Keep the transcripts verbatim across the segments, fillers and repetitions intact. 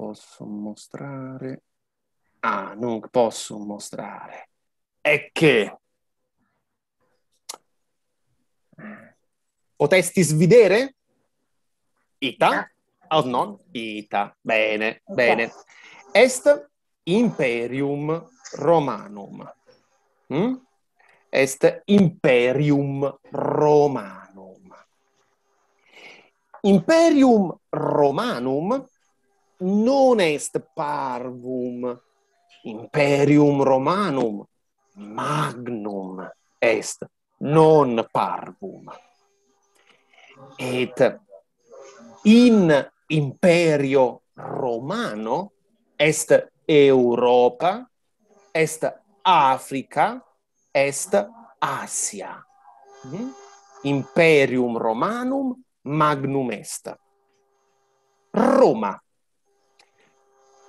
posso mostrare. Ah, non posso mostrare. Ecce. Potestis videre? Ita? Ita. Aut non? Ita. Bene, bene. Est Imperium Romanum. Mm? Est Imperium Romanum. Imperium Romanum non est parvum. Imperium Romanum magnum est, non parvum. Et in imperio romano est Europa, est Africa, est Asia. Mm? Imperium Romanum magnum est. Roma.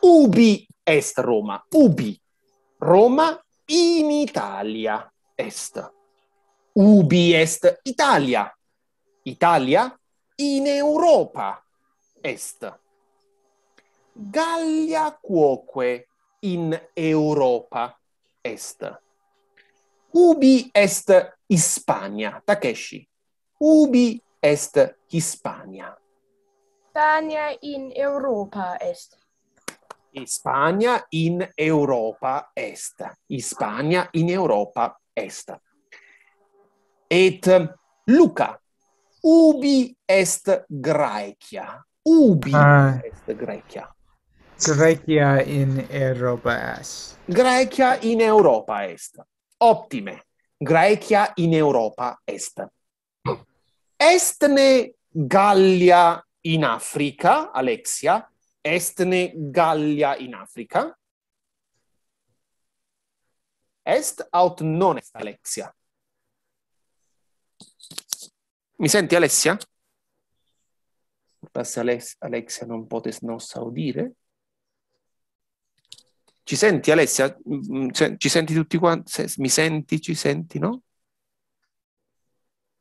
Ubi est Roma? Ubi? Roma in Italia est. Ubi est Italia? Italia in Europa est. Gallia quoque in Europa est. Ubi est Hispania? Takeshi. Ubi est Hispania? Hispania in Europa est. Hispania in Europa est. Hispania in Europa est. Et Luca, ubi est Graecia? Ubi Ah. est Graecia? Graecia in Europa est. Graecia in Europa est. Optime. Graecia in Europa est. Est ne Gallia in Africa, Alexia? Est ne Gallia in Africa? Est aut non est, Alexia? Mi senti, Alexia? Forse Alex-, Alexia non potes nos audire. Ci senti, Alexia? Mm, se-, ci senti tutti quanti? Se-, mi senti, ci senti, no?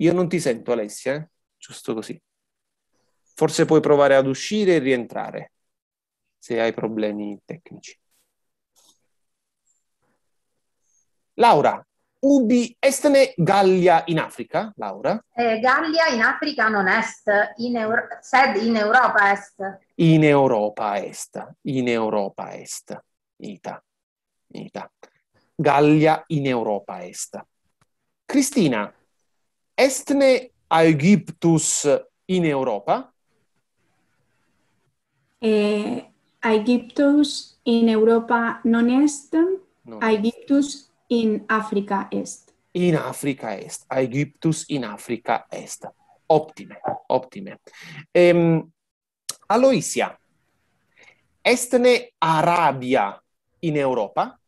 Io non ti sento, Alexia, eh? Giusto così. Forse puoi provare ad uscire e rientrare, se hai problemi tecnici. Laura, ubi est ne Gallia in Africa, Laura? Eh, Gallia in Africa non est, in Eur-, sed in Europa est. In Europa est, in Europa est. Ita, ita. Gallia in Europa est. Cristina, est ne Aegyptus in Europa? Eh, Aegyptus in Europa non est, Non est. Aegyptus in Africa est. In Africa est. Aegyptus in Africa est. Optime, optime. Ehm, Aloisia, est ne Arabia in Europa?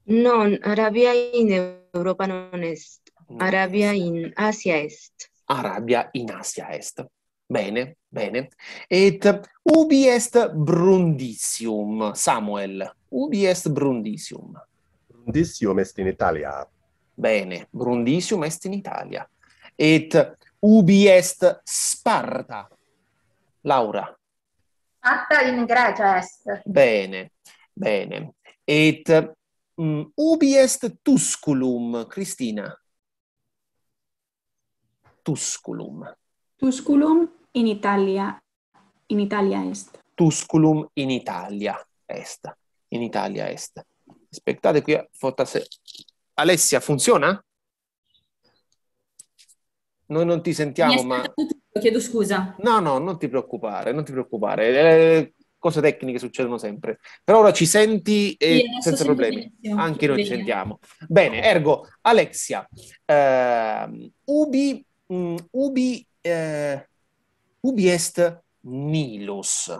Non, Arabia in Europa non est. Non Arabia est. In Asia est. Arabia in Asia est. Bene, bene. Et ubi est Brundisium, Samuel? Ubi est Brundisium? Brundisium est in Italia. Bene, Brundisium est in Italia. Et ubi est Sparta, Laura? Sparta in Grecia est. Bene, bene. Et, mm, ubi est Tusculum, Cristina? Tusculum. Tusculum in Italia, in Italia est. Tusculum in Italia est. In Italia est. Aspettate qui, forse. Alessia, funziona? Noi non ti sentiamo, ma... Mi è saltato tutto, chiedo scusa. No, no, non ti preoccupare, non ti preoccupare. Eh, cose tecniche succedono sempre. Per ora ci senti e... Sì, adesso senza problemi. Benissimo. Anche noi ci sentiamo. Bene, ergo, Alexia, ehm, ubi, mm, ubi, eh, ubi est Nilus?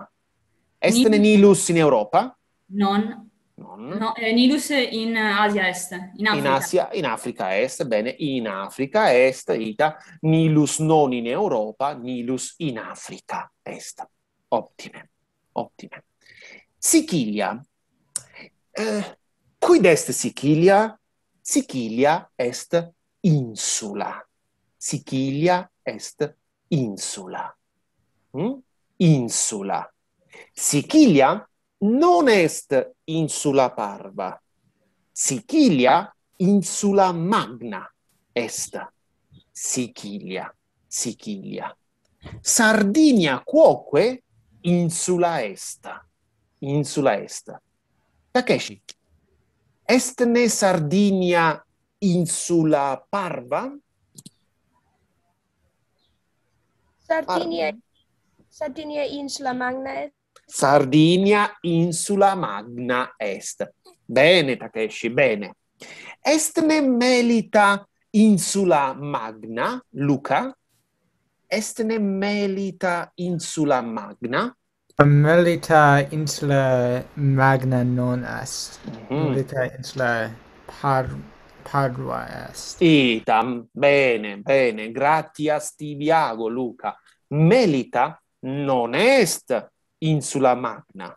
Est ne Nilus in Europa? Non. Non. No, eh, Nilus in Asia est, in Africa. In Asia, in Africa est, bene, in Africa est, ita, Nilus non in Europa, Nilus in Africa est. Optime, optime. Sicilia. Eh, quid est Sicilia? Sicilia est insula. Sicilia est insula. Mm? Insula. Sicilia non est insula parva. Sicilia insula magna est. Sicilia, Sicilia. Sardinia quoque insula est. Insula est. Takeshi, est ne Sardinia insula parva? Sardinia, Sardinia insula magna est. Sardinia insula magna est. Bene, Takeshi, bene. Est ne Melita insula magna, Luca? Est ne Melita insula magna? Melita insula magna non est. Mhm. Melita insula par parva est. Ita, bene, bene, gratias tibi ago, Luca. Melita non est insula magna.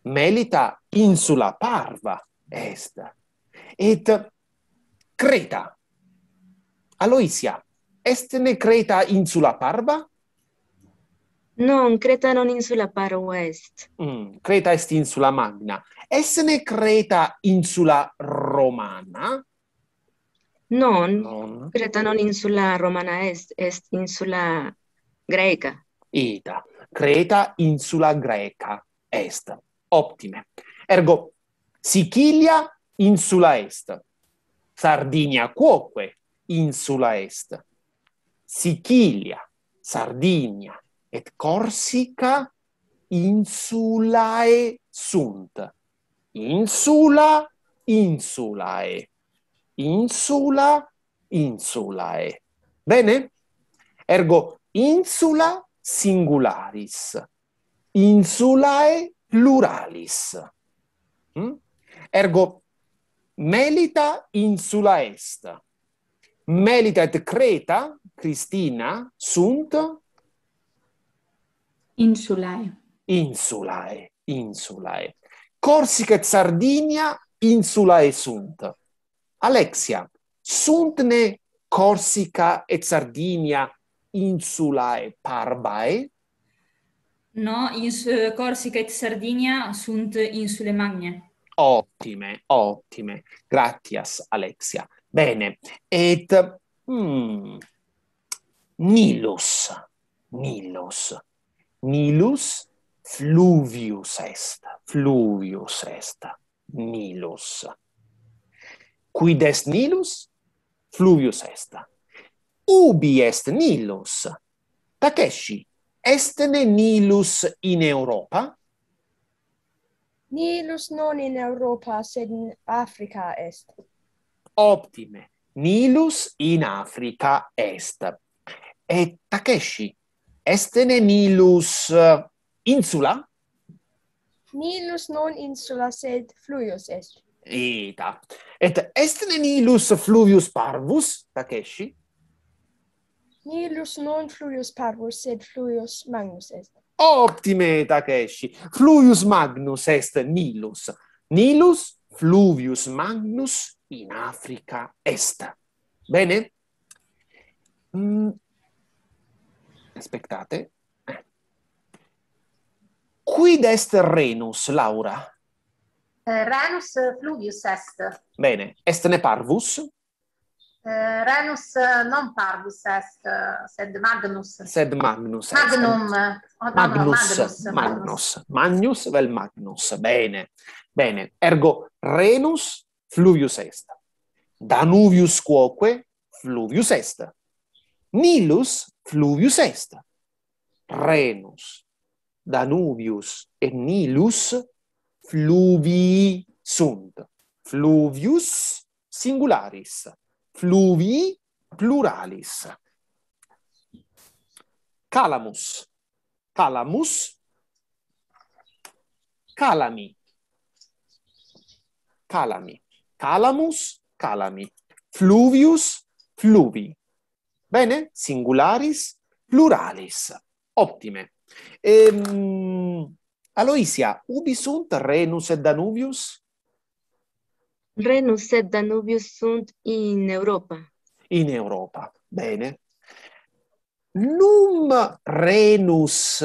Melita insula parva est. Et Creta. Aloisia, est ne Creta insula parva? Non, Creta non insula parva est. Mm, Creta est insula magna. Est ne Creta insula romana? Non, Non. Creta non insula romana est, est insula greca. Ita. Creta insula greca est. Optime. Ergo, Sicilia insula est. Sardinia quoque insula est. Sicilia, Sardinia et Corsica insulae sunt. Insula, insulae. Insula, insulae. Bene? Ergo, insula singularis. Insulae pluralis. Mm? Ergo, Melita insula est. Melita et Creta, Cristina, sunt Insulae. Insulae, insulae. Corsica et Sardinia insulae sunt. Alexia, sunt ne Corsica et Sardinia insulae parvae? No, ins, eh, Corsica et Sardinia sunt insule magnae. Optime, optime. Gratias, Alexia. Bene. Et mm, Nilus. Nilus. Nilus fluvius est. Fluvius est. Nilus. Quid est Nilus? Fluvius est. Ubi est Nilus? Takeshi, est ne Nilus in Europa? Nilus non in Europa, sed in Africa est. Optime. Nilus in Africa est. Et Takeshi, est ne Nilus, eh, insula? Nilus non insula, sed fluvius est. Ita. Et est ne Nilus fluvius parvus, Takeshi? Nilus non fluvius parvus, sed fluvius magnus est. Optime, Takeshi. Fluvius magnus est Nilus. Nilus fluvius magnus in Africa est. Bene? Mm. Aspettate. Eh. Quid est Rhenus, Laura? Eh, Rhenus, eh, fluvius est. Bene. Est ne parvus? Eh, Rhenus, eh, non parvus est, eh, sed magnus. Sed magnus est. Magnum, eh, oh, no, no, Magnus, magnus, magnus. Magnus, vel magnus. Bene. Bene. Ergo, Rhenus fluvius est. Danuvius quoque fluvius est. Nilus fluvius est. Rhenus, Danuvius et Nilus fluvii sunt. Fluvius singularis. Fluvii pluralis. Calamus. Calamus. Calami. Calami. Calamus. Calami. Fluvius. Fluvi. Bene? Singularis. Pluralis. Optime. Ehm, Aloisia, ubi sunt Rhenus et Danuvius? Rhenus et Danuvius sunt in Europa. In Europa. Bene. Num Rhenus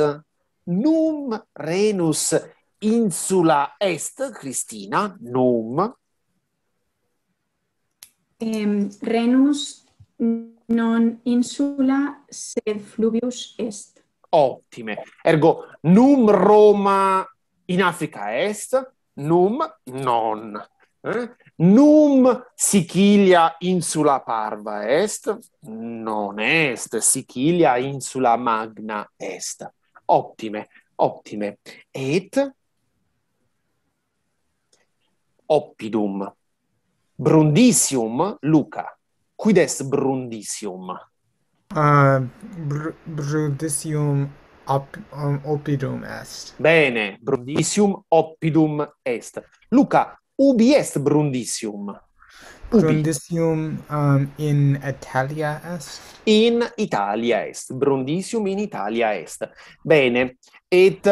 Num Rhenus insula est, Cristina, num. Em, Rhenus non insula, sed fluvius est. Optime. Ergo, num Roma in Africa est, num non. Eh? Num Sicilia insula parva est, non est, Sicilia insula magna est. Optime, optime. Et oppidum. Brundisium, Luca. Quid est Brundisium? Uh, br Brundisium op um, oppidum est. Bene, Brundisium oppidum est. Luca, ubi est Brundisium? Ubi? Brundisium um, in Italia est. In Italia est. Brundisium in Italia est. Bene. Et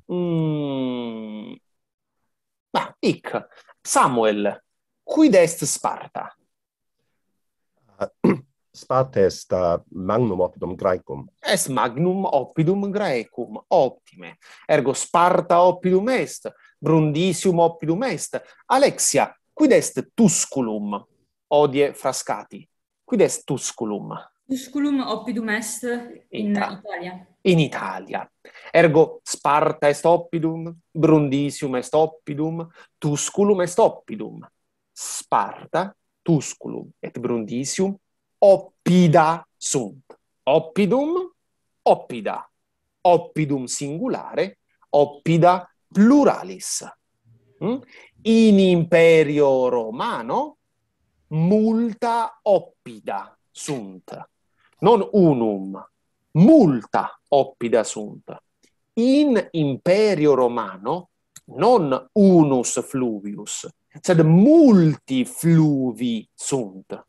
mm, ma, ic. Samuel, quid est Sparta? Sparta est uh, magnum oppidum Graecum. Est magnum oppidum Graecum, optime. Ergo Sparta oppidum est, Brundisium oppidum est. Alexia, quid est Tusculum? Hodie Frascati. Quid est Tusculum? Tusculum oppidum est in Ita- Italia. In Italia. Ergo Sparta est oppidum, Brundisium est oppidum, Tusculum est oppidum. Sparta, Tusculum et Brundisium oppida sunt. Oppidum, oppida. Oppidum singulare, oppida pluralis. Mm? In imperio romano multa oppida sunt. Non unum, multa oppida sunt. In imperio romano non unus fluvius, sed multi fluvii sunt.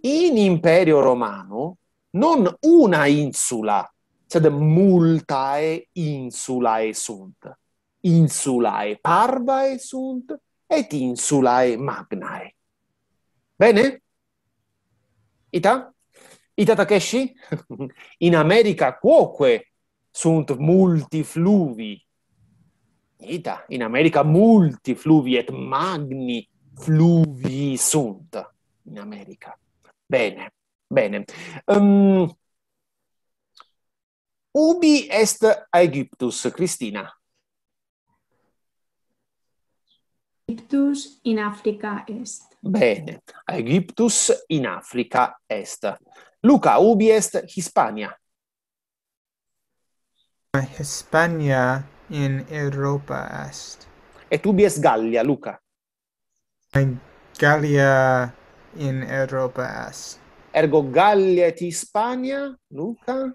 In imperio romano non una insula, sed multae insulae sunt. Insulae parvae sunt et insulae magnae. Bene? Ita? Ita, Takeshi? In America quoque sunt multi fluvii. Ita, in America multi fluvii et magni fluvii sunt in America. Bene, bene. Um, ubi est Aegyptus, Cristina? Aegyptus in Africa est. Bene, Aegyptus in Africa est. Luca, ubi est Hispania? Hispania in Europa est. Et ubi est Gallia, Luca? Gallia in Europa est. Ergo Gallia et Hispania, Luca?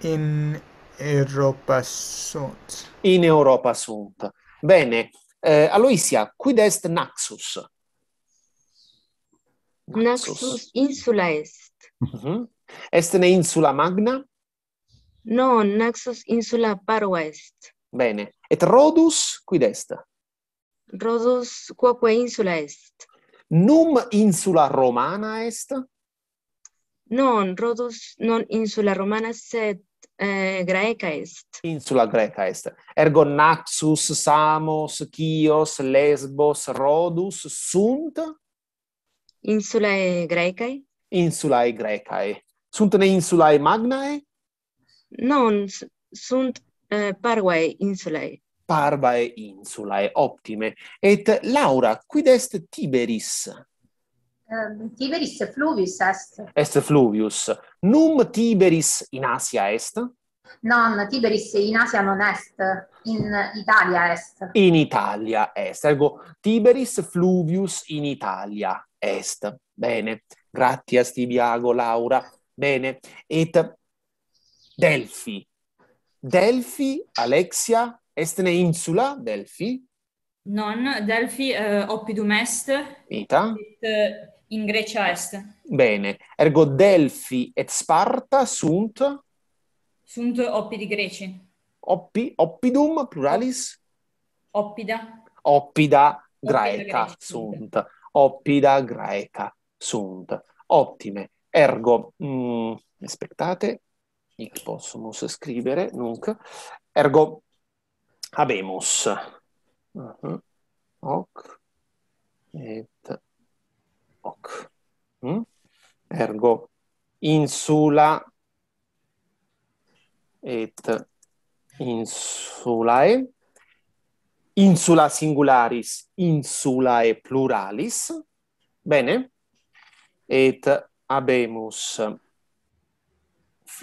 In Europa sunt. In Europa sunt. Bene. Eh, Aloisia, quid est Naxos? Naxos insula est. Mhm. Est ne insula magna? Non, Naxos insula parva est. Bene. Et Rhodus, quid est? Rhodus quoque insula est. Num insula romana est? Non, Rhodus non insula romana, sed eh, Graeca est. Insula Graeca est. Ergo Naxos, Samos, Chios, Lesbos, Rhodus sunt? Insulae Graecae? Insulae Graecae. Sunt ne insulae magnae? Non, sunt eh, parvae insulae. Parvae insulae, optime. Et Laura, quid est Tiberis? Um, Tiberis fluvius est. Est fluvius. Num Tiberis in Asia est? Non, Tiberis in Asia non est, in Italia est. In Italia est. Ergo Tiberis fluvius in Italia est. Bene. Gratias tibi ago, Laura. Bene. Et Delphi. Delphi, Alexia, est ne insula Delphi? Non, Delphi eh, oppidum est. Ita? Et eh, in Grecia est. Bene. Ergo Delphi et Sparta sunt? Sunt oppidi Greci. Oppi, oppidum, pluralis? Oppida. Oppida Graeca Graeca sunt. Oppida Graeca sunt. Optime. Ergo, mm, aspettate. Hic possumus scribere, nunc. Ergo, habemus. Mhm. Hoc et hoc. Mm? Ergo, insula et insulae. Insula singularis, insulae pluralis. Bene. Et habemus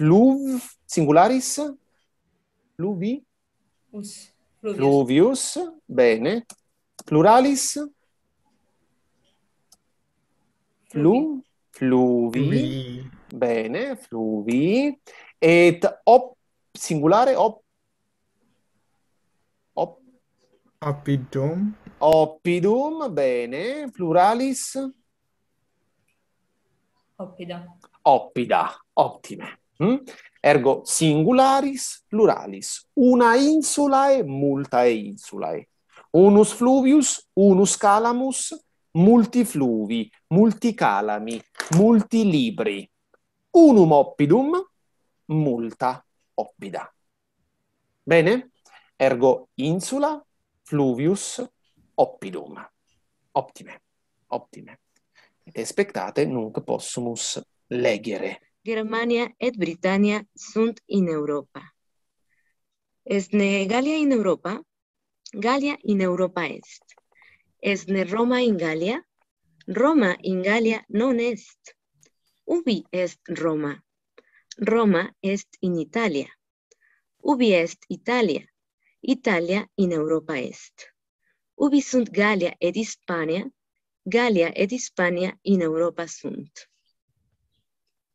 fluv-, singularis? Fluvi? Us. Fluvius. Fluvius. Bene. Pluralis? Flu-, fluvi. Fluvi. Bene, fluvi. Et op-, singulare, op-, op-, Oppidum. Oppidum, bene. Pluralis? Oppida. Oppida, optime. Mm? Ergo singularis pluralis. Una insulae, multae insulae. Unus fluvius, unus calamus, multi fluvi, multi calami, multi libri. Unum oppidum, multa oppida. Bene? Ergo insula fluvius oppidum. Optime. Optime. Et spectate, nunc possumus legere. Germania et Britannia sunt in Europa. Est ne Gallia in Europa? Gallia in Europa est. Est ne Roma in Gallia? Roma in Gallia non est. Ubi est Roma? Roma est in Italia. Ubi est Italia? Italia in Europa est. Ubi sunt Gallia et Hispania? Gallia et Hispania in Europa sunt.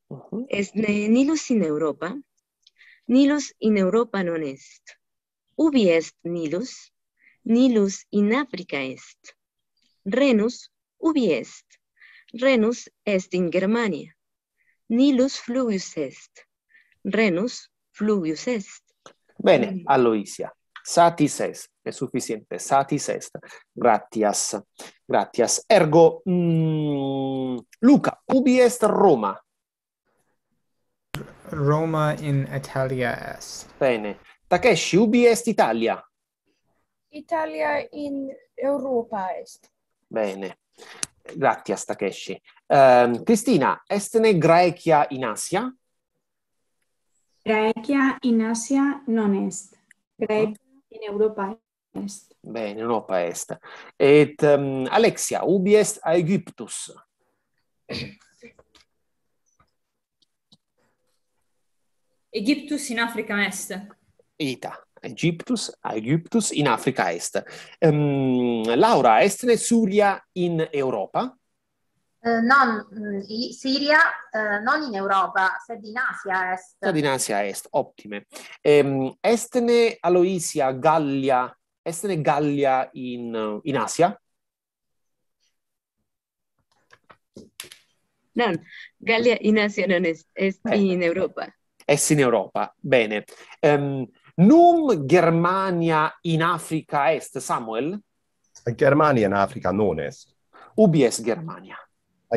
Mhm. Est ne Nilus in Europa? Nilus in Europa non est. Ubi est Nilus? Nilus in Africa est. Rhenus, ubi est? Rhenus est in Germania. Nilus fluvius est. Rhenus fluvius est. Bene, Aloisia. Satis est, è sufficiente. Satis est. Gratias. Gratias. Ergo, mm, Luca, ubi est Roma? Roma in Italia est. Bene. Takeshi, ubi est Italia? Italia in Europa est. Bene. Gratias, Takeshi. Ehm, Cristina, est ne Graecia in Asia? Graecia in Asia non est. Graecia in Europa est. Bene, in Europa est. Et, ehm, Alexia, ubi est Aegyptus? Aegyptus in Africa est. Ita, Aegyptus, Aegyptus in Africa est. Ehm, Laura, est ne Suria in Europa? Eh, non, mm, i-, Siria, eh, non in Europa, sed in Asia est. Sed in Asia est, optime. Ehm, est ne Aloisia Gallia, est ne Gallia in, in Asia? Non, Gallia in Asia non est, est in Europa. Est in Europa, bene. Ehm, num Germania in Africa est, Samuel? Germania in Africa non est. Ubi est Germania?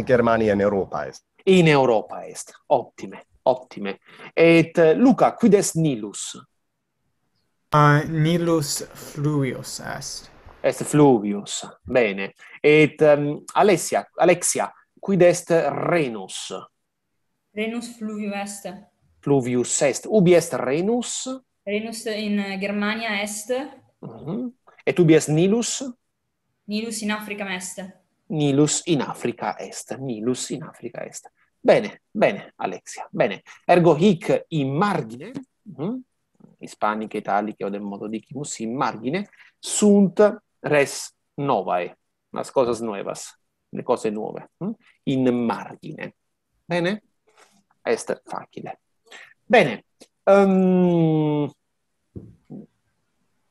Germania in Europa est. In Europa est. Optime, optime. Et, eh, Luca, quid est Nilus? Ah, Nilus fluvius est. Est fluvius, bene. Et, ehm, Alessia, Alexia, quid est Rhenus? Rhenus fluvius est. Fluvius est. Ubi est Rhenus? Rhenus in, eh, Germania est. Mhm. Et ubi est Nilus? Nilus in Africa est. Nilus in Africa est. Nilus in Africa est. Bene, bene, Alexia. Bene. Ergo hic in margine, mhm, Hispanicae, Italicae, odem modo dicimus, in margine, sunt res novae, las cosas nuevas, le cose nuove, hm? In margine. Bene? Est facile. Bene. Ehm,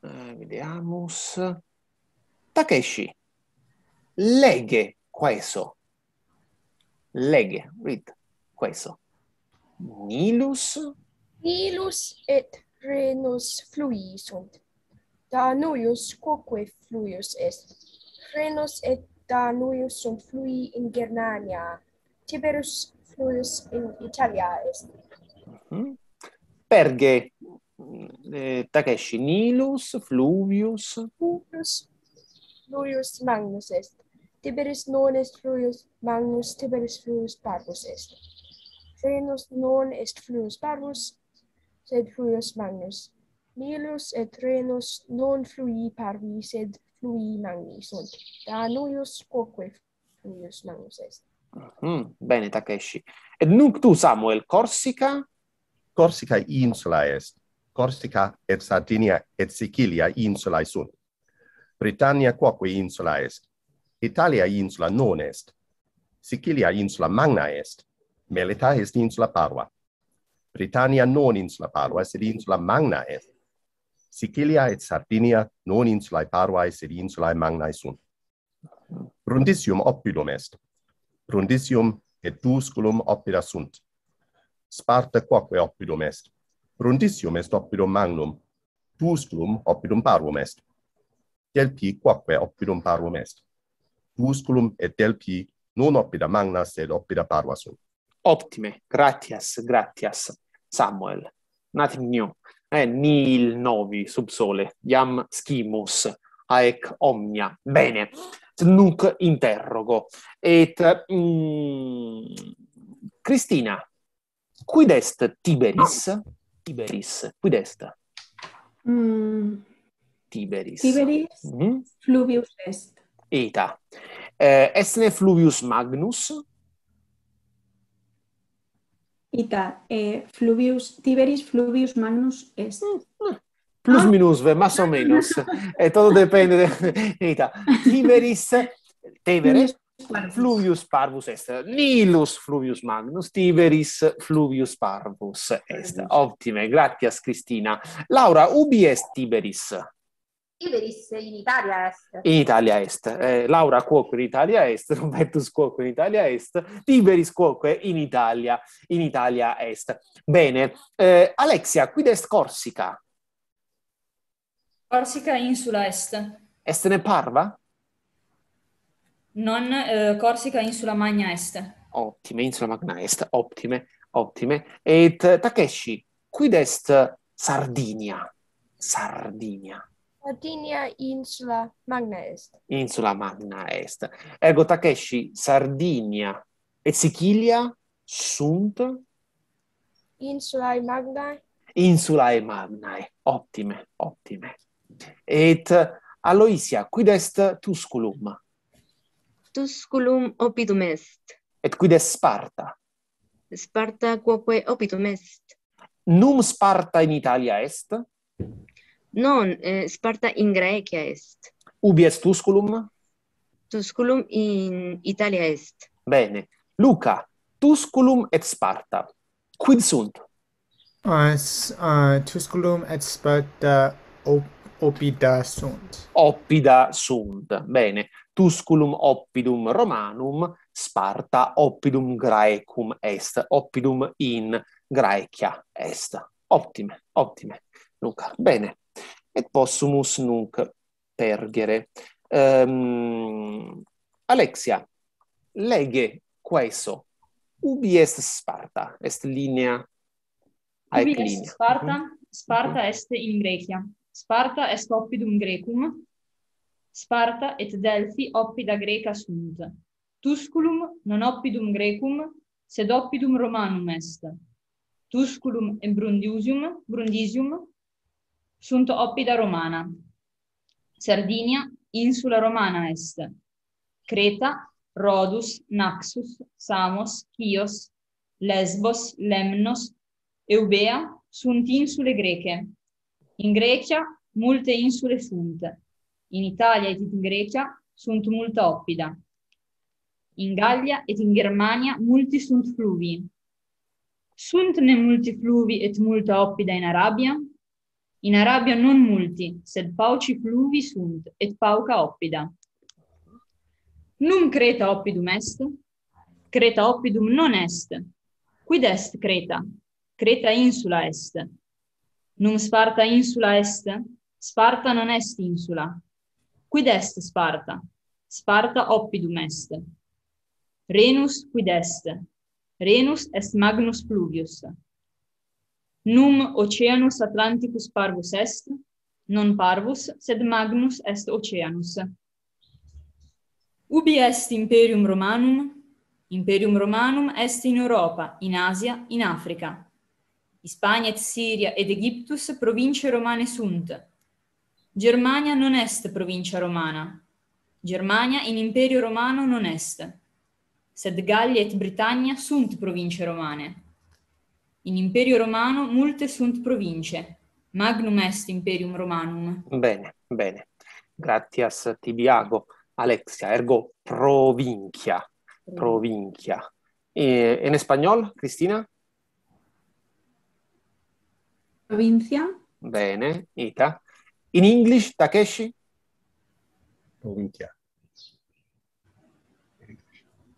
eh, vediamus. Takeshi, lege queso. Lege, read, queso. Nilus? Nilus et Rhenus flui sunt. Danuius quoque fluvius est. Rhenus et Danuius sunt flui in Germania. Tiberius fluvius in Italia est. Mhm. Perge, eh, Takeshi, Nilus fluvius. Fluvius, fluvius magnus est. Tiberis non est fluvius magnus, Tiberis fluvius parvus est. Rhenus non est fluvius parvus, sed fluvius magnus. Nilus et Rhenus non fluvii parvi, sed fluvii magni sunt. Danuius quoque fluvius magnus est. Mhm, bene, Takeshi. Et nunc tu, Samuel, Corsica? Corsica insula est. Corsica et Sardinia et Sicilia insulae sunt. Britannia quoque insula est. Italia insula non est. Sicilia insula magna est. Melita est insula parva. Britannia non insula parva, sed insula magna est. Sicilia et Sardinia non insulae parvae, sed insulae magnae sunt. Brundisium oppidum est. Brundisium et Tusculum oppida sunt. Sparta quoque oppidum est. Brundisium est oppidum magnum. Tusculum oppidum parvum est. Delphi quoque oppidum parvum est. Tusculum et Delphi non oppida magna, sed oppida parva sunt. Optime, gratias, gratias, Samuel. Nothing new. Eh, nihil novi sub sole, iam scimus haec omnia. Bene, nunc interrogo. Et, mm, Cristina, quid est Tiberis? Tiberis, quid est? Mm. Tiberis. Tiberis Mhm. fluvius est. Ita. Eh, est ne fluvius magnus? Ita, eh, fluvius, Tiberis fluvius magnus est. Mm, eh. Plus Ah. minus, ve, más o menos. Eh, todo depende de, ita. Tiberis, Tevere, Fluvius parvus. fluvius parvus est. Nilus fluvius magnus, Tiberis fluvius parvus est. Parvus. Optime, gratias, Cristina. Laura, ubi est Tiberis? Tiberis in Italia est. In Italia est. Eh, Laura, quoque in Italia est, Robertus quoque in Italia est, Tiberis quoque in Italia, in Italia est. Bene. Eh, Alexia, quid est Corsica? Corsica insula est. Est ne parva? Non, eh, Corsica insula magna est. Optime, insula magna est. Optime, optime. Et, eh, Takeshi, quid est Sardinia? Sardinia. Sardinia insula magna est. Insula magna est. Ergo, Takeshi, Sardinia et Sicilia sunt? Insulae magnae. Insulae magnae. Optime, optime. Et Aloysia, quid est Tusculum? Tusculum oppidum est. Et quid est Sparta? Sparta quoque oppidum est. Num Sparta in Italia est? Non, eh, Sparta in Graecia est. Ubi est Tusculum? Tusculum in Italia est. Bene. Luca, Tusculum et Sparta, quid sunt? Uh, s-, uh, Tusculum et Sparta op-, oppida sunt. Oppida sunt. Bene. Tusculum oppidum Romanum, Sparta oppidum Graecum est. Oppidum in Graecia est. Optime, optime, Luca. Bene. Et possumus nunc pergere. Ehm, Alexia, lege quaeso. Ubi est Sparta? Est linea? Ubi Haec est linea. Sparta? Mhm. Sparta Mhm. est in Graecia. Sparta est oppidum Graecum. Sparta et Delphi oppida Graeca sunt. Tusculum non oppidum Graecum, sed oppidum Romanum est. Tusculum et Brundusium, Brundisium sunt oppida Romana. Sardinia insula Romana est. Creta, Rhodus, Naxos, Samos, Chios, Lesbos, Lemnos, Eubea sunt insulae Graecae. In Graecia multe insulae sunt. In Italia et in Graecia sunt multa oppida. In Gallia et in Germania multi sunt fluvii. Sunt ne multi fluvii et multa oppida in Arabia? In Arabia non multi, sed pauci fluvii sunt, et pauca oppida. Num Creta oppidum est? Creta oppidum non est. Quid est Creta? Creta insula est. Num Sparta insula est? Sparta non est insula. Quid est Sparta? Sparta oppidum est. Rhenus quid est? Rhenus est magnus fluvius. Nunc Oceanus Atlanticus parvus est? Non parvus, sed magnus est Oceanus. Ubi est Imperium Romanum? Imperium Romanum est in Europa, in Asia, in Africa. Hispania et Syria et Aegyptus provinciae Romanae sunt. Germania non est provincia Romana. Germania in Imperio Romano non est. Sed Gallia et Britannia sunt provinciae Romanae. In Imperio Romano multe sunt provinciae. Magnum est Imperium Romanum. Bene, bene. Gratias tibi ago. Alexia, ergo provincia. Provincia. E, en español, Cristina? Provincia. Bene, ita. In English, Takeshi? Provincia.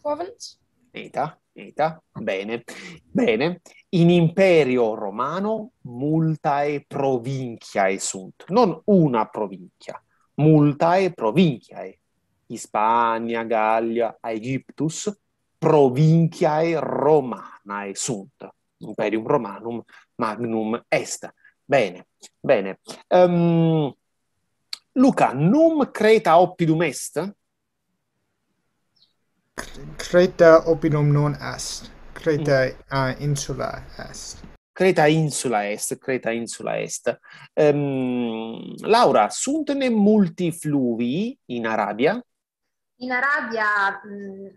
Province. Ita, ita. Bene, bene. In Imperio Romano multae provinciae sunt. Non una provincia, multae provinciae. Hispania, Gallia, Aegyptus, provinciae Romanae sunt. Imperium Romanum magnum est. Bene, bene. Ehm, Luca, nunc Creta oppidum est? Creta oppidum non est. Creta, mm, uh, insula est. Creta insula est, Creta insula est. Ehm, Laura, sunt ne multi fluvii in Arabia? In Arabia, mm,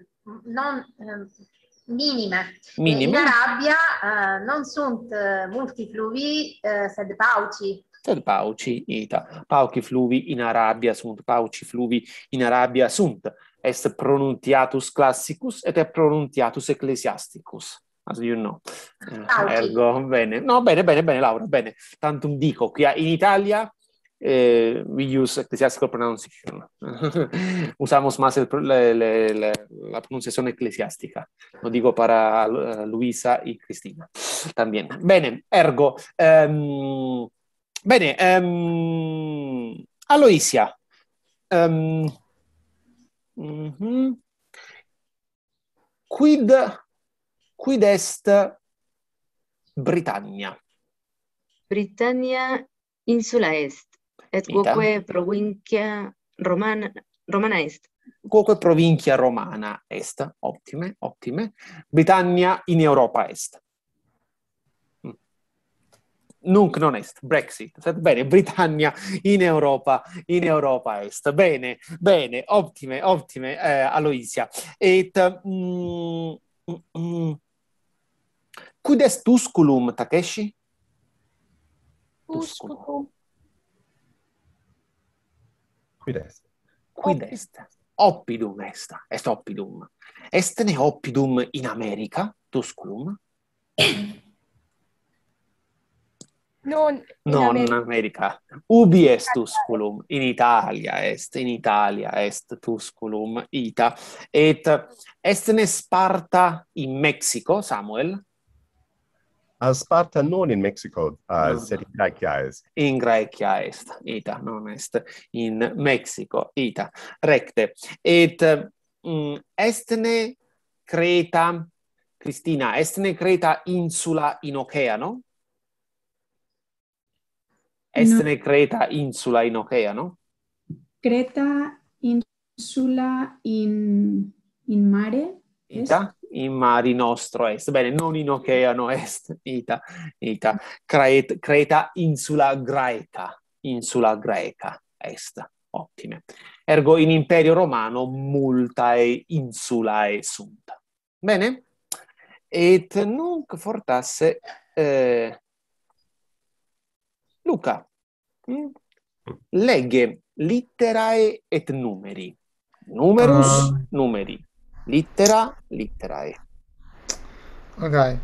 non, ehm, minime. Minime. In Arabia, eh, non sunt, eh, multi fluvii, eh, sed pauci. Sed pauci, ita. Pauci fluvii in Arabia sunt, pauci fluvii in Arabia sunt. Est pronuntiatus classicus et est pronuntiatus ecclesiasticus, as you know. Eh, pauci. Ergo, bene. No, bene, bene, bene, Laura, bene. Tantum dico, quia in Italia, eh, we use ecclesiastical pronunciation. Usamos más el pro-, le, le, le, la pronunciación eclesiástica. Lo digo para, eh, Luisa y Cristina también. Bene, ergo, ehm, bene, ehm, Aloysia, ehm, mhm. Quid, quid est Britannia? Britannia insula est, et, ita, quoque provincia Romana, Romana est. Quoque provincia Romana est, optime, optime. Britannia in Europa est. Mm. Nunc non est, Brexit. Sed bene, Britannia in Europa, in Europa est. Bene, bene, optime, optime, eh, Aloysia. Et, mm, mm, mm. Quid est Tusculum, Takeshi? Tusculum. Tusculum. Quid est? Quid est? Oppidum est, est oppidum. Est ne oppidum in America, Tusculum? Non in, non in America. America. Ubi est Tusculum? In Italia est, in Italia est Tusculum, ita. Et est ne Sparta in Mexico, Samuel? A Sparta non in Mexico, uh, no, sed in Graecia est. In Graecia est, ita, non est in Mexico, ita. Recte. Et, mm, est ne Creta, Cristina, est ne Creta insula in oceano? Est, no, ne Creta insula in oceano? Creta insula in, in mare est? Ita, in mari nostro est. Bene, non in oceano est. Ita, ita. Craet-, Creta insula Graeca. Insula Graeca est. Optime. Ergo in Imperio Romano multae insulae sunt. Bene? Et nunc fortasse, eh, Luca, mm? Lege litterae et numeri. Numerus, ah, numeri. Littera, litterae. Ok.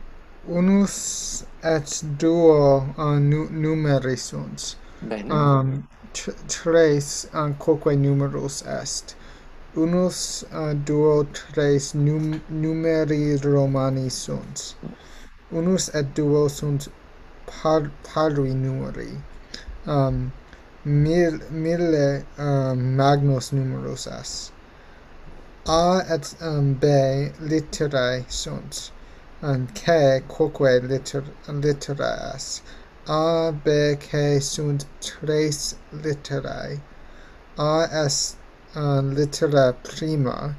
Unus et duo, uh, nu-, numeri sunt. Bene. Um, tr-, tres, uh, quoque numerus est. Unus, uh, duo, tres num-, numeri Romani sunt. Unus et duo sunt par-, pari numeri. Um, mil-, mille, um, magnus numerus est. A et, um, B litterae sunt. An K quoque littera, littera est. A, B, K sunt tres litterae. A est an littera prima,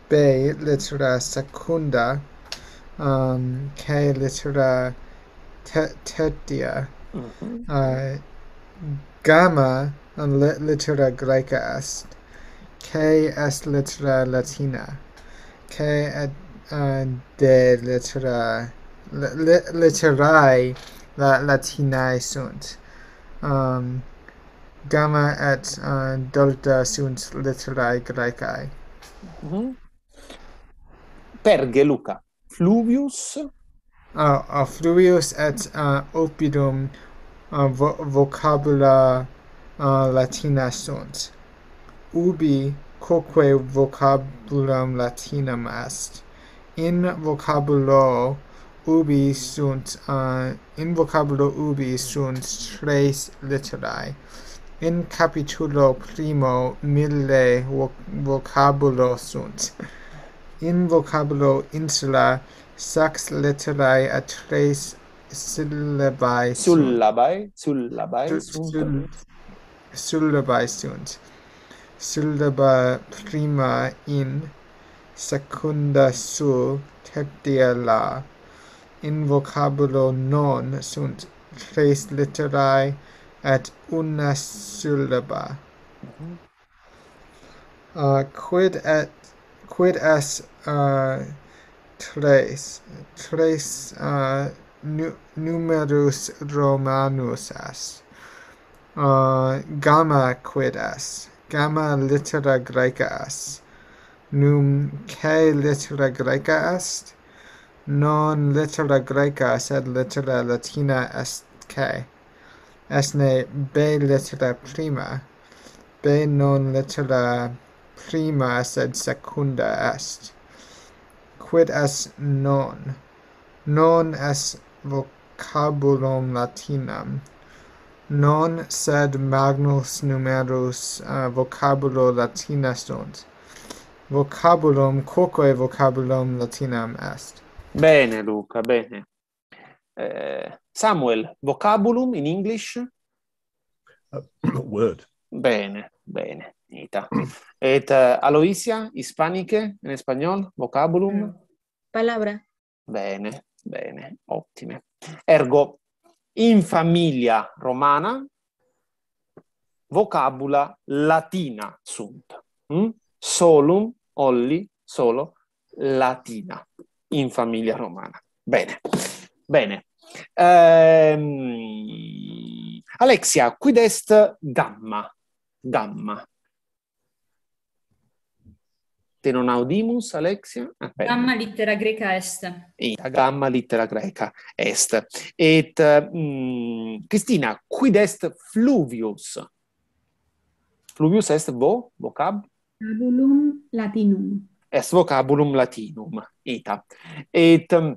B littera secunda, um, K littera te-, tertia, uh, gamma an li-, littera graeca est, K est littera latina, K et, uh, D littera, li-, li-, litterae la-, latinae sunt. Um, gamma et, uh, delta sunt litterae graecae. Mhm. Perge, Luca. Fluvius. Uh, uh, fluvius et, uh, oppidum, uh, vo-, vocabula, uh, latina sunt. Ubi quoque vocabulum latinum est. In vocabulo ubi sunt, uh, in vocabulo ubi sunt tres litterae. In capitulo primo mille vo-, vocabulo sunt. In vocabulo insula sex litterae et tres syllabae sunt. Syllabae, syllabae Sul-, sunt. sul-, syllabae sunt. Syllaba prima in, secunda sul, tertia la. In vocabulo non sunt tres litterae et una syllaba. Mhm. Uh, quid et, quid est, uh, tres, tres, uh, nu-, numerus Romanus est. Uh, gamma quid est? Gamma littera graeca est. Num K littera graeca est? Non littera graeca, sed littera latina est K. Est ne B littera prima? B non littera prima, sed secunda est. Quid est non? Non est vocabulum latinum. Non sed magnus numerus, uh, vocabula latina sunt. Vocabulum, quoque vocabulum latinum est. Bene, Luca, bene. Eh, Samuel, vocabulum in English? Word. Bene, bene, ita. Et, eh, Aloysia, hispaniche, en español, vocabulum? Palabra. Bene, bene, ottime. Ergo, in familia romana, vocabula latina sunt. Mm? Solum, only, solo, latina. In familia romana. Bene, bene. Ehm, Alexia, quid est gamma? Gamma. Te non audimus, Alexia? Ah, bene. Gamma littera greca est. Ita, gamma littera greca est. Et, mm, Cristina, quid est fluvius? Fluvius est vo-, vocab-? Vocabulum latinum. Est vocabulum latinum, ita. Et, ehm,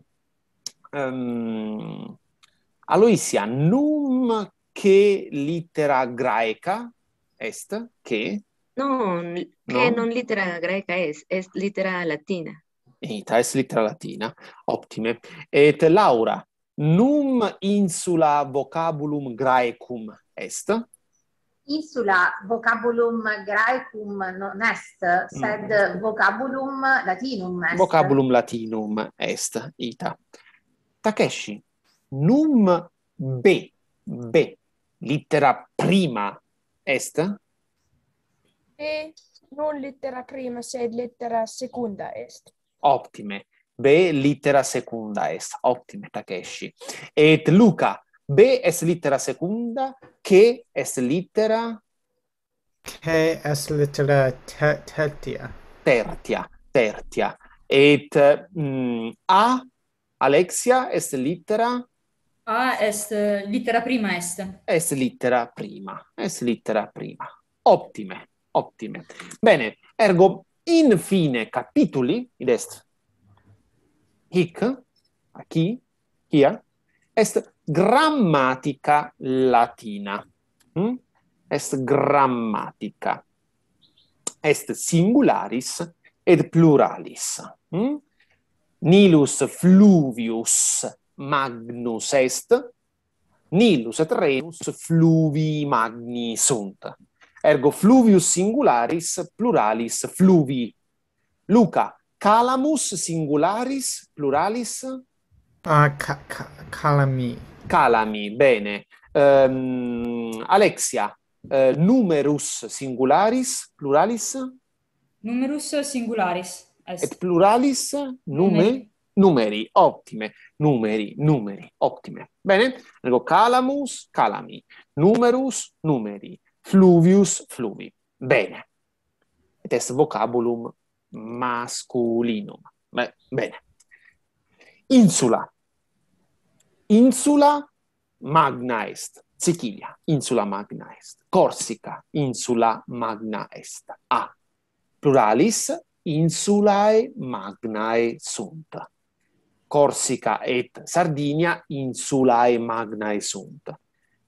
Aloysia, num K littera graeca est? K? Non, che No? non littera greca est, est littera latina. Ita, est littera latina. Optime. Et Laura, num insula vocabulum Graecum est? Insula vocabulum Graecum non est, sed vocabulum latinum est. Vocabulum latinum est, ita. Takeshi, num B, B, littera prima est? B non littera prima, sed littera secunda est. Optime. B littera secunda est. Optime, Takeshi. Et Luca, B est littera secunda, K est littera? K est littera te-, tertia. Tertia, tertia. Et, mm, A, Alexia, est littera? A est, eh, littera prima est. Est littera prima, est littera prima. Optime, optime. Bene, ergo in fine capituli, id est hic, aquí, hia, est grammatica latina. Mm? Est grammatica. Est singularis et pluralis. Mm? Nilus fluvius magnus est, Nilus et Rhenus fluvii magni sunt. Ergo fluvius singularis, pluralis fluvii. Luca, calamus singularis, pluralis? Ah, ca- ca- calami. Calami, bene. Ehm, Alexia, eh, numerus singularis, pluralis? Numerus singularis est. Et pluralis? Nume? Numeri, ottime. Numeri, numeri, ottime. Bene? Ergo calamus, calami. Numerus, numeri. Fluvius, fluvi. Bene. Et est vocabulum masculinum. Be- bene. Insula. Insula magna est. Sicilia, insula magna est. Corsica, insula magna est. A. Pluralis, insulae magnae sunt. Corsica et Sardinia insulae magnae sunt.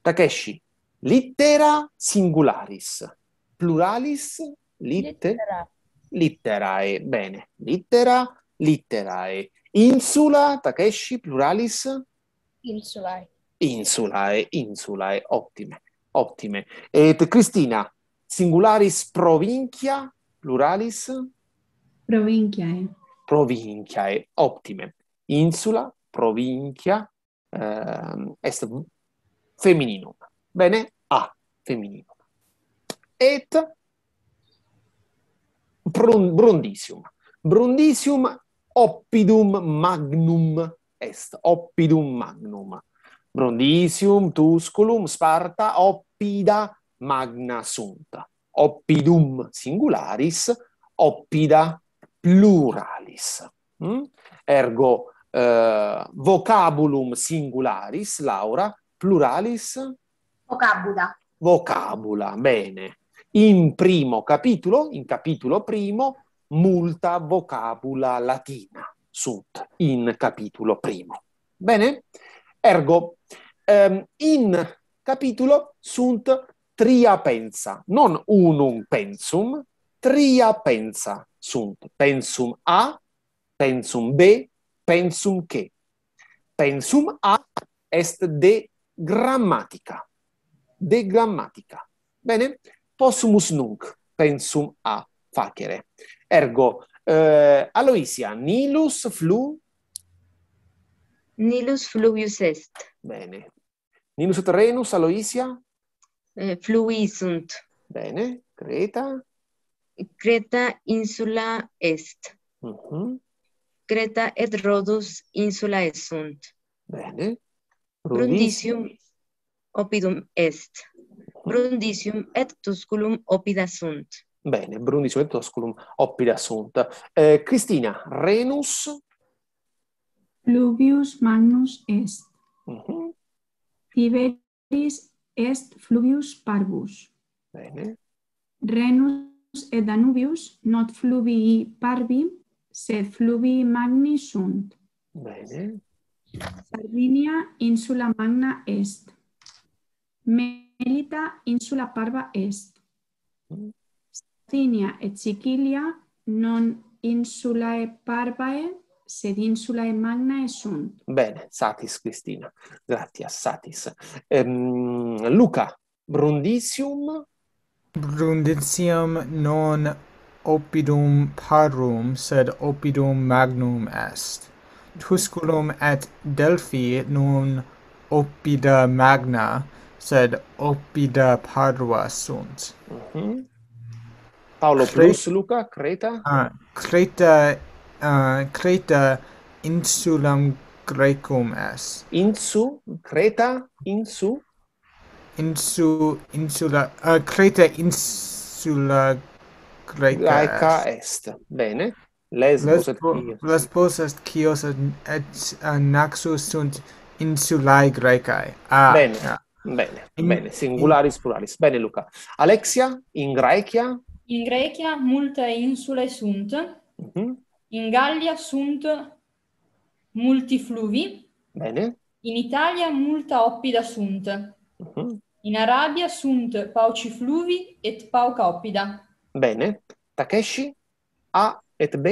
Takeshi, littera singularis. Pluralis? Litte? Littera. Litterae. Bene. Littera, litterae. Insula, Takeshi, pluralis? Insulae. Insulae, insulae. Ottime, ottime. Et Cristina, singularis provincia, pluralis? Provinciae. Provinciae. Ottime. Insula, provincia, ehm, est femininum. Bene? A, femininum. Et Brun- Brundisium. Brundisium oppidum magnum est. Oppidum magnum. Brundisium, Tusculum, Sparta, oppida magna sunt. Oppidum singularis, oppida pluralis. Mm? Ergo, eh, vocabulum singularis, Laura, pluralis? Vocabula. Vocabula, bene. In primo capitulo, in capitulo primo, multa vocabula latina sunt in capitulo primo. Bene? Ergo, ehm, in capitulo sunt tria pensa, non unum pensum, tria pensa sunt. Pensum A, pensum B, pensum C. Pensum A est de grammatica. De grammatica. Bene? Possumus nunc pensum A facere. Ergo, eh, Aloisia, Nilus flu? Nilus fluvius est. Bene. Nilus et Rhenus, Aloisia? Eh, fluvii sunt. Bene. Creta? Creta insula est. Mhm. Creta et Rhodus insulae sunt. Bene. Brundisium oppidum est. Brundisium et Tusculum oppida sunt. Bene, Brundisium et Tusculum oppida sunt. Eh, Cristina, Rhenus? Fluvius magnus est. Mhm. Tiberis est fluvius parvus. Bene. Rhenus et Danubius not fluvii parvi, sed fluvii magni sunt. Bene. Sardinia insula magna est. Melita insula parva est. Mm. Sardinia et Sicilia non insulae parvae, sed insulae magnae sunt. Bene, satis, Cristina. Gratias, satis. Ehm, Luca, Brundisium? Brundisium non oppidum parvum, sed oppidum magnum est. Tusculum et Delphi non oppida magna, sed oppida parva sunt. Mhm. Paolo Cre- plus Luca, Creta? Ah, Creta, ah, Creta insulam Graecum est. Insu, Creta, insu? Insu, insula, ah, Creta insula Graeca Graeca est. Est. Bene. Lesbos et Lesbo- Chios. Lesbos et Chios et, et, ah, Naxos sunt insulae Graecae. Ah, Bene. ah. Bene, In- bene. Singularis pluralis. Bene, Luca. Alexia, in Graecia? In Graecia multae insulae sunt, Mhm. in Gallia sunt multi fluvi, Bene. in Italia multa oppida sunt, Mhm. in Arabia sunt pauci fluvi et pauca oppida. Bene. Takeshi? A et B?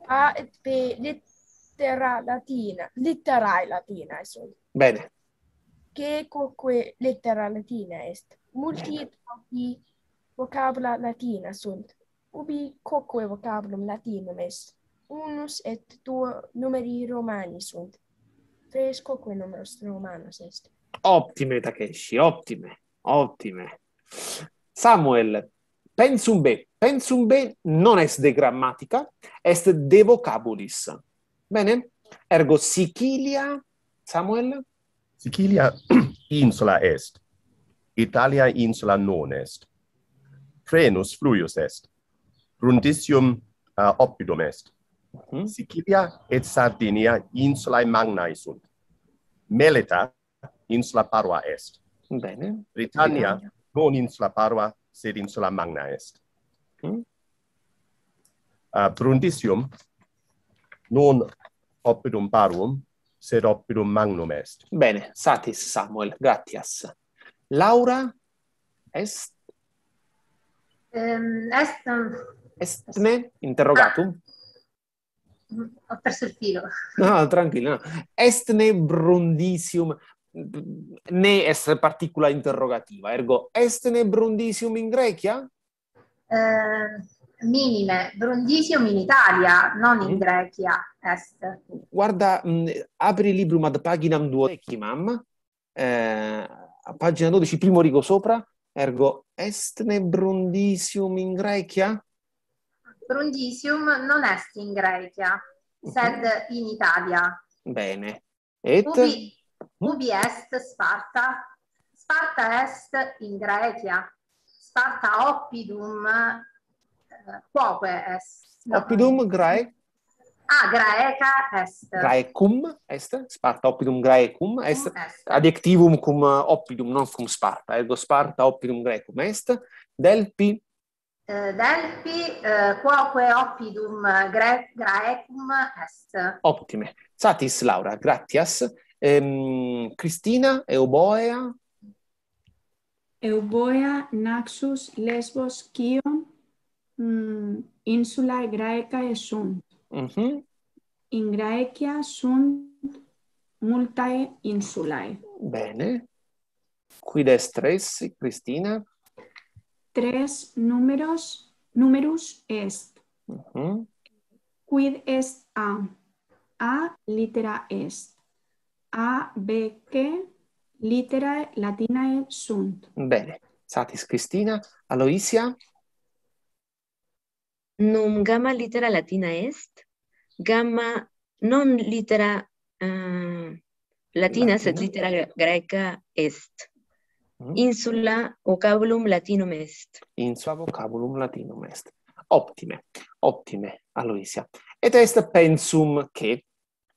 A et B, lit- littera latina, litterae latinae sunt. Bene. Che quoque littera latina est? Multi et hoc vocabula latina sunt. Ubi quoque vocabulum latinum est? Unus et duo numeri Romani sunt. Tres quoque numerus Romanus est. Optime, Takeshi, optime, optime. Samuel, pensum B. Pensum B non est de grammatica, est de vocabulis. Bene? Ergo Sicilia, Samuel? Sicilia insula est. Italia insula non est. Frenus fluvius est. Brundisium, uh, oppidum est. Mhm. Sicilia et Sardinia insulae magnae sunt. Melita insula parva est. Bene. Britannia Britannia. Non insula parva, sed insula magna est. Mm. Uh, Brundisium non oppidum parvum, sed oppidum magnum est. Bene, satis Samuel, gratias. Laura, est? Ehm, est, ehm, Estne interrogatum? Ah. Mm, ho perso il filo. No, tranquillo, no. Est ne Brundisium, ne est particula interrogativa, ergo est ne Brundisium in Graecia? Eh, minime, Brundisium in Italia, non in Mm. Graecia est. Guarda, mm, apri librum ad paginam duodecimam, eh, a pagina dodici, primo rigo sopra, ergo est ne Brundisium in Graecia? Brundisium non est in Graecia, Mhm. sed in Italia. Bene. Et? Ubi, ubi est Sparta? Sparta est in Graecia. Sparta oppidum, eh, quoque est. No. Oppidum Grae? Ah, Graeca est. Graecum est, Sparta oppidum Graecum est, Cum est. Adjectivum cum, eh, oppidum, non cum Sparta, ergo Sparta oppidum Graecum est, Delphi. Eh, Delphi, eh, quoque oppidum Gre-, Graecum est. Optime. Satis, Laura, gratias. Ehm, Cristina, Euboea? Euboea, Naxos, Lesbos, Chion, mm, insulae Graecae sunt. Mhm. In Graecia sunt multae insulae. Bene. Quid est tres, Cristina? Tres numeros, numerus est. Mhm. Quid est A? A littera est. A, B, C litterae latinae sunt. Bene. Satis Cristina. Aloisia? Num gamma littera latina est, gamma non littera, eh, latina, sed Latina. Littera gre-, graeca est. Mm. Insula vocabulum latinum est. Insula vocabulum latinum est. Optime, optime, Aloisia. Et est pensum che,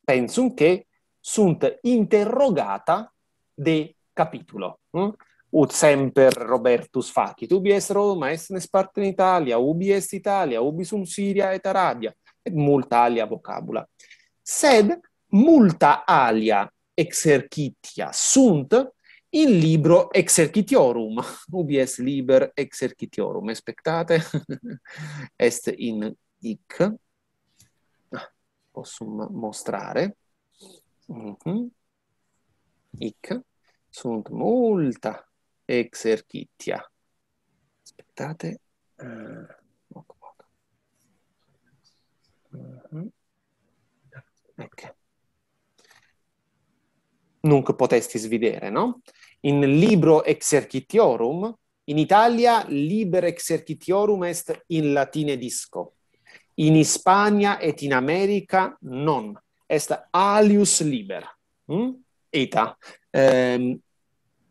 pensum che sunt interrogata de capitulo. Mm? Ut semper Robertus facit. Ubi est Roma, est ne Sparta in Italia, ubi est Italia, ubi sunt Siria et Arabia, et multa alia vocabula. Sed multa alia exercitia sunt in libro Exercitiorum. Ubi est liber Exercitiorum? Expectate. Est in hic. Ah, possum mostrare. Mhm. Hic sunt multa exercitia. Aspettate. Eh, poco, poco. Mhm. Ecco. Nunc potestis videre, no? In libro Exercitiorum, in Italia liber Exercitiorum est in latine disco. In Hispania et in America non. Est alius liber. Mm? Ita. Ehm,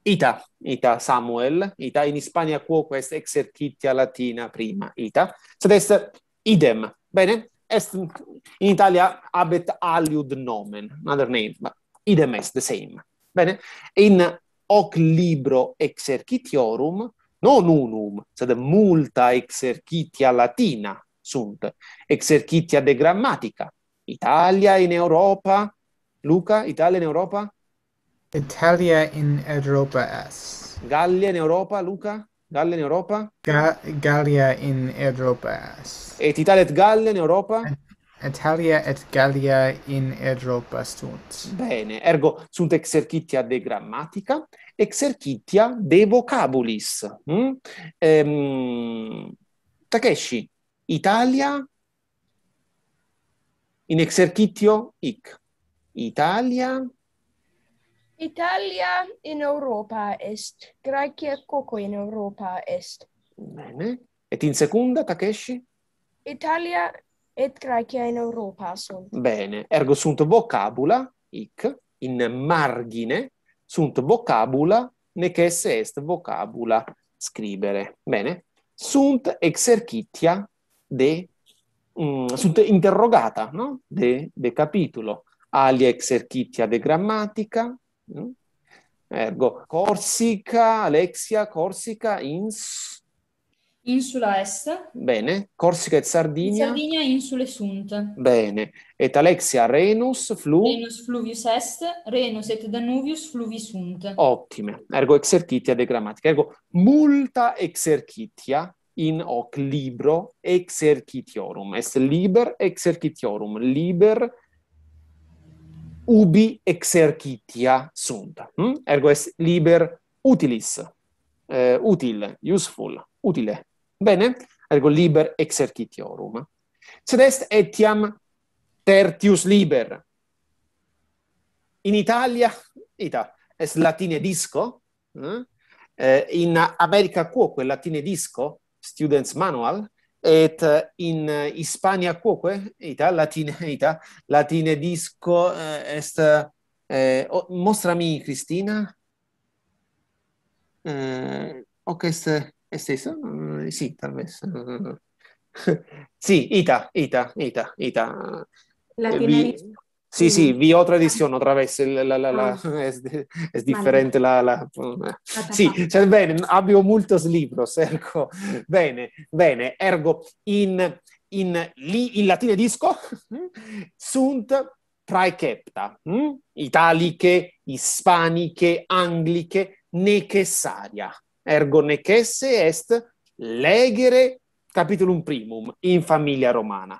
ita, ita, Samuel, ita, in Hispania quoque est Exercitia latina prima, ita. Sed est idem. Bene? Est in Italia habet aliud nomen, another name, but idem est, the same. Bene? In hoc libro Exercitiorum, non unum, sed multa Exercitia latina sunt, Exercitia de grammatica. Italia in Europa, Luca, Italia in Europa? Italia in Europa est. Gallia in Europa, Luca? Gallia in Europa? Ga-, Gallia in Europa est. Et Italia et Gallia in Europa? Italia et Gallia in Europa sunt. Bene, ergo sunt exercitia de grammatica, exercitia de vocabulis. Mm? Ehm, Takeshi, Italia in exercitio hic. Italia. Italia in Europa est. Graecia quoque in Europa est. Bene. Et in secunda, Takeshi? Italia et Graecia in Europa sunt. Bene. Ergo sunt vocabula, hic, in margine, sunt vocabula, nec esse est vocabula scribere. Bene. Sunt exercitia de, mm, sunt interrogata, no? De, de capitulo. Alia exercitia de grammatica. Mm? Ergo, Corsica, Alexia, Corsica, ins- Insula est. Bene. Corsica et Sardinia. Sardinia insule sunt. Bene. Et Alexia, Rhenus, flu- Rhenus fluvius est, Rhenus et Danuvius fluvi sunt. Optime. Ergo exercitia de grammatica. Ergo multa exercitia in hoc libro exercitiorum. Est liber exercitiorum, liber ubi exercitia sunt. Hm? Ergo est liber utilis, eh, utile, useful, utile. Bene? Ergo liber exercitiorum. Sed est etiam tertius liber. In Italia, ita, est latine disco, eh? Eh, in America quoque latine disco, students manual, et, eh, in, eh, Hispania quoque, ita, latine, ita, latine disco, eh, est, eh, o-, mostrami, Cristina. Eh, hoc est, est esse? Eh, sì, tal vez. Eh, sì, ita, ita, ita, ita. Latine vi-, disco. Sì, sì, vi ho tradición otra vez, el, la, la, la, ah, es, es diferente la, la, eh. Ah, sì, cioè, bene, abbiamo multos libros, ergo. Bene, bene, ergo in, in, li, in latine disco sunt praecepta, hm? Italiche, ispaniche, angliche, necessaria. Ergo necesse est legere capitulum primum in familia romana.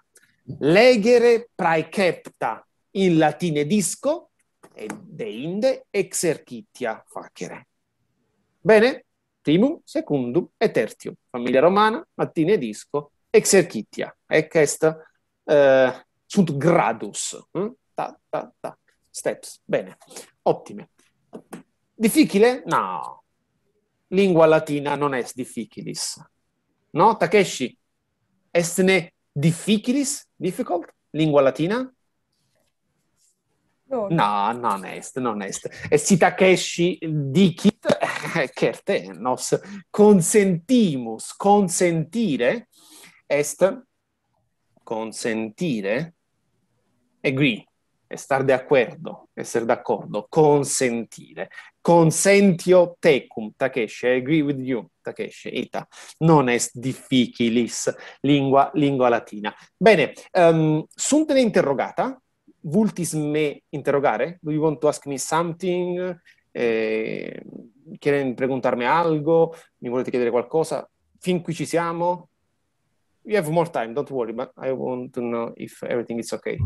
Legere praecepta in latine disco, et deinde exercitia facere. Bene? Primum, secundum et tertium. Familia romana, latine disco, exercitia. Ec est, eh, sunt gradus. Hm? Ta, ta, ta. Steps. Bene. Optime. Difficile? No. Lingua latina non est difficilis. No, Takeshi? Est ne difficilis, difficult, lingua latina? No. No, non est, non est. Et si Takeshi dicit, eh, certe, nos consentimus, consentire est consentire, agree, estar de acuerdo, esser d'accordo, consentire. Consentio tecum, Takeshi, I agree with you, Takeshi, ita. Non est difficilis, lingua, lingua latina. Bene, ehm, sunt ne interrogata? Vultis me interrogare? Do you want to ask me something? Eh, quieren preguntarme algo? Mi volete chiedere qualcosa? Fin qui ci siamo? We have more time, don't worry, but I want to know if everything is okay.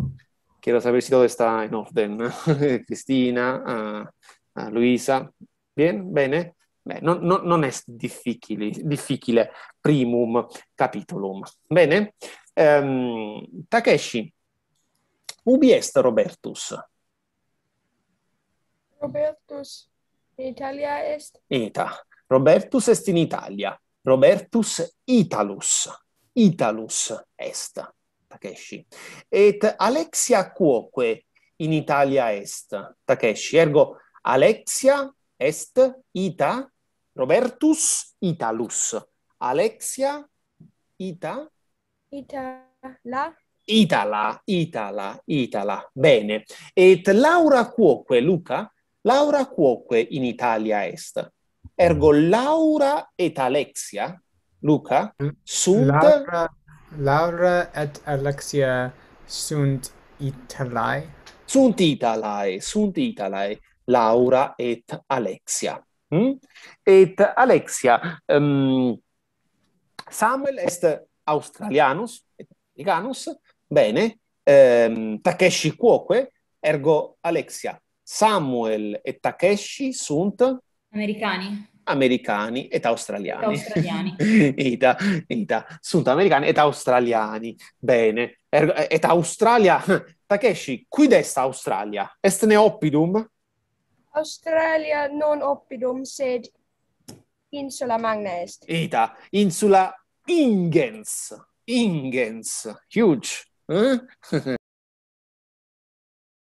Quiero saber si todo está en orden. Cristina, ah, ah, Luisa. Bien? Bene? Beh, non, non, non est difficili, difficile primum capitulum. Bene? Ehm, Takeshi, ubi est Robertus? Robertus in Italia est? Ita. Robertus est in Italia. Robertus Italus. Italus est. Takeshi. Et Alexia quoque in Italia est? Takeshi. Ergo, Alexia est ita, Robertus Italus. Alexia ita? Itala. Itala, Itala, Itala. Bene. Et Laura quoque, Luca? Laura quoque in Italia est? Ergo Laura et Alexia, Luca, sunt Laura, Laura et Alexia sunt Italae? Sunt Italae, sunt Italae, Laura et Alexia. Mm? Et Alexia, ehm, Samuel est Australianus, et Americanus, bene, ehm, Takeshi quoque, ergo Alexia, Samuel et Takeshi sunt Americani. Americani et Australiani. Et Australiani. Ita, ita, sunt Americani et Australiani. Bene. Ergo, et Australia, Takeshi, quid est Australia? Est ne oppidum? Australia non oppidum, sed insula magna est. Ita, insula ingens, ingens, huge. Eh?